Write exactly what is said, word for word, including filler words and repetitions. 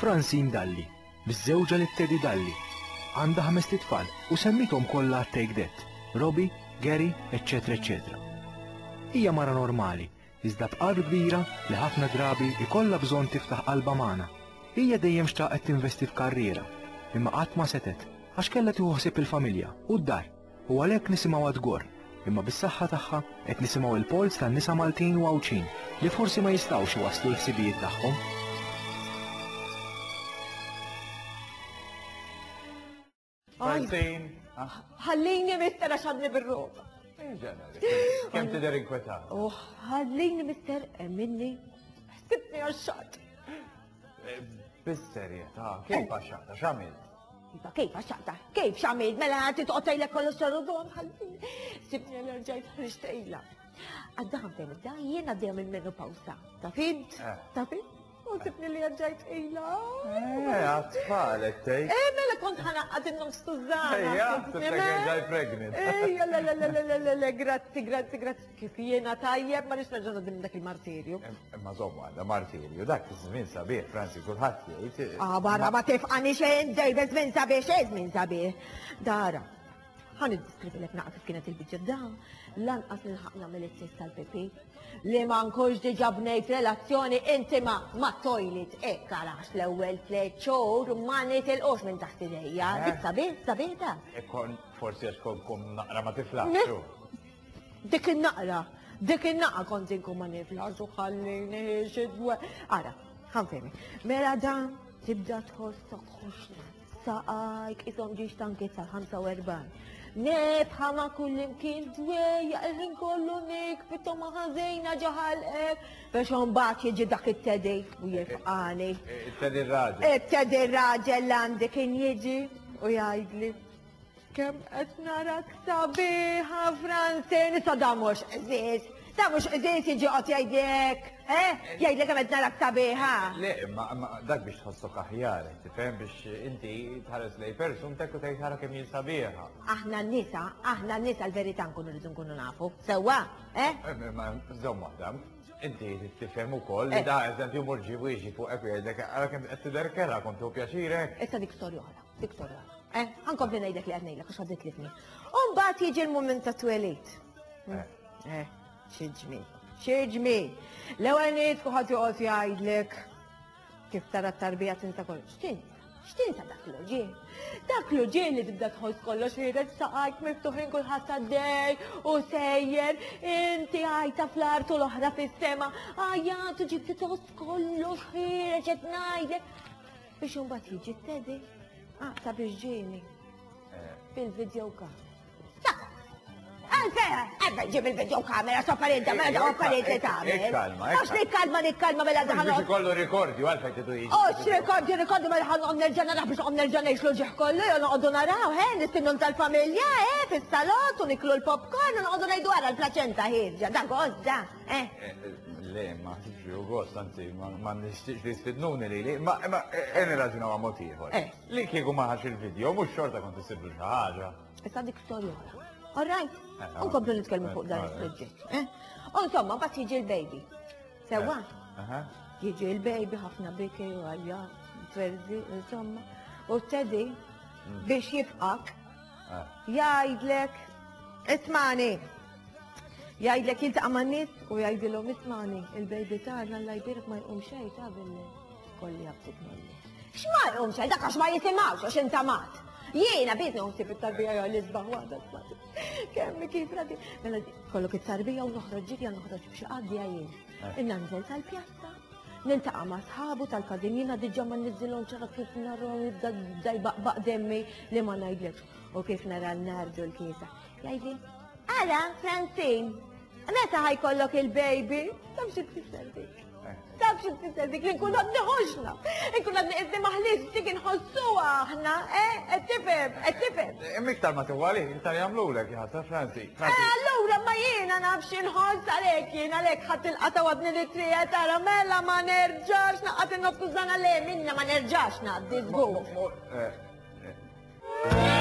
Francine Dalli, miżżewġa lil Teddy Dalli. Għandha ħamest itfal u semmithom kollha Take That, Robbie, Gary, eċċetera eċċetera. Hija mara normali, iżda b'qalb kbira li ħafna drabi ikollha bżonn tiftaħ qalbha magħna. Hija dejjem xtaqet tinvesti f'karriera, imma qatt ma setet għax kellha tieħu ħsieb il-familja u d-dar u għalhekk nisimgħu tgorr, imma bis-saħħa tagħha qed nisimgħu il-polz tan-nisa Maltin u Għawdxin li forsi ma jistgħux iwasslu l-ħsibijiet tagħhom. Francine. Ħallini mister għax għadni bir-roba. Kemm tidher inkwetat? Oh, ħallini mister minni. Ħsibni għax-xat. Bis-serjetà, kif għax-xata, x'għamilt? Iva, kif għax-xata? Kif x'għamilt? Mela titqgħod tgħidlek kollox xarudon, ħallini. Sibni l-erġajt ħriġt Għadda ħamtejn da jiena dejjem il-menopawsa. Ta' fint? Ta' fint? U sibni li għadġajt ila. Eh, għat-tfal, tgħid. Eh, mela kont ħanaqqad in-nofs tużana. Ejja, ġaj pregnant. Ejja, le, le, le, le, le, le, grazzi, grazzi, grazzi. Kif jiena tajjeb, ma nix nerġa' dim dak il-martirju. Imma żommu għandha martirju, dak iż-żmien sabiħ, Franzi, kulħadd jgħid. Ah, barra ma tifqani xejn, dejjem żmien sabiħ, xejn żmien sabiħ. Dara, ħa niddeskrivilek naqra kif kienet il-biċċa da, lanqas nilħaq nagħmel it-test tal-pipi li ma nkunx diġà bnejt relazzjoni intima ma' toilet hekk għalax l-ewwel tliet xhur ma nitilqux minn taħt idejja. Dik sabiħ, sabiħ da. Ikkon forsi għax kont kum naqra ma tiflaħx. Dik in-naqra, dik in-naqra kont inkun ma niflaħx u ħallini xi dwe. Ara, ħanfehmi. Mela dan tibda tħossok ħoxna. Saqajk isom ġiex tanki tal-ħamsa u erbgħin. Nefħa ma' kull imkien dwejja il-ħin kollu nik pittom ma' ħażejna ġaħalqek. Biex imbagħad jiġi dak it-Teddy u jifqani. It-Teddy raġel. It-Teddy raġel għandi kien jiġi u jgħidli kemm qed narak sabiħa Francine, issa da mhux qżież. Da mhux qżież jiġi qed jgħidlek, eh? Jgħidlek kemm qed narak sabiħa. Le, imma dak biex tħossok aħjar, tifhem biex inti tħares lej persuntek u tgħid ħara kemm jien sabiħa. Aħna n-nisa, aħna n-nisa l-verità nkunu rridu nkunu nafu. Sewwa, eh? Ma żomm waħda. Inti tifhem ukoll li da eżempju mur ġibu jiġi fuqek u jgħidlek ara kemm qed tidher kerha kont tieħu pjaċirek. Issa dik storja oħra, dik storja oħra. Eh, ħankompli ngħidlek li qed ngħidlek għax għaddit lifni. U mbagħad jiġi l-mument ta' twelid. Eh, xi ġmiel, xi ġmiel. L-ewwel nies kulħadd joqgħod jgħidlek kif tara t-tarbija tinsa kollox. X'tinsa? X'tinsa dak l-uġigħ? Dak l-uġigħ li tibda tħoss kollox ħiereġ saqajk miftuħin kulħadd għaddej u sejjer, inti għajta fl-art u l-oħra fis-sema, għajjat u ġibti tħoss kollox ħiereġ qed ngħidlek. Biex imbagħad jiġi t-Teddy. Ah, ta' biex ġieni. Fil-video camera. Għalfejn, għalfejn ġib il-video camera, sofferenza, mela daw affarijiet li tagħmel. Ikkalma, Għax nikkalma, nikkalma mela daħal. Biex ikollu rikordju, għalfejn tidu jiġi. Ox, rikordju, rikordju, mela ħan noqgħod nerġa' naraw biex noqgħod nerġa' ngħix l-ġieħ kollu, jew noqogħdu naraw, he, nistinnu tal-familja, he, fis-salott u niklu l-popcorn u noqogħdu ngħidu wara l-plaċenta ħierġa, da gost, da, eh. Le, ma ħsibx li hu gost, anzi, ma nixtieqx li jistidnuni lili, ma qed nirraġunaw għal mod ieħor. Li kieku ma ħax il-video, mhux xorta kont issiblu xi ħaġa. Issa dik storja oħra. All right, unkomplu nitkellmu fuq dan is-suġġett. U insomma, mbagħad jiġi l-baby. Sewwa? Jiġi l-baby ħafna biki u għajja, twerzi, insomma. U Teddy biex jifqak, jgħidlek, ismani. Jgħidlek jiltaqa' man-nies u jgħidilhom ismani, il-baby tagħna Alla jbierek ma jqum xejn ta' billi kolli jabtik nolli. X'ma jqum xejn, dak għax ma jisimgħux għax intamat. Jiena biss nħossib it-tarbija jew l-isbaħ waħda smati. Kemm kif radi. Mela kollok it-tarbija u noħroġ ġirja noħroġ b'xi qadja jien. Innanżel tal-pjazza, niltaqa' ma' sħabu tal-każin jiena diġà ma niżilhom ċara kif narhom jibda jbaqbaq demmi li ma ngħidlekx. U kif nara l-nardu l-kiesa. Jgħidli, ara Francine, meta ħajkollok il-baby? Taf xi tfisser dik? Taf xi tfisser dik li nkun għadni ħoxna, nkun għadni qisni maħlis dik inħossuha aħna, eh, qed tifhem, qed tifhem. Imma iktar ma tuwali, iktar jagħmlulek jħassa Franzi. Eh, allura ma jiena naf xi nħoss għalhekk jien għalhekk ħadd il-qata għadni li trija tara mela ma nerġax naqgħod in-nofs tużana le minna ma nerġax ngħaddi żgur. Eh, eh.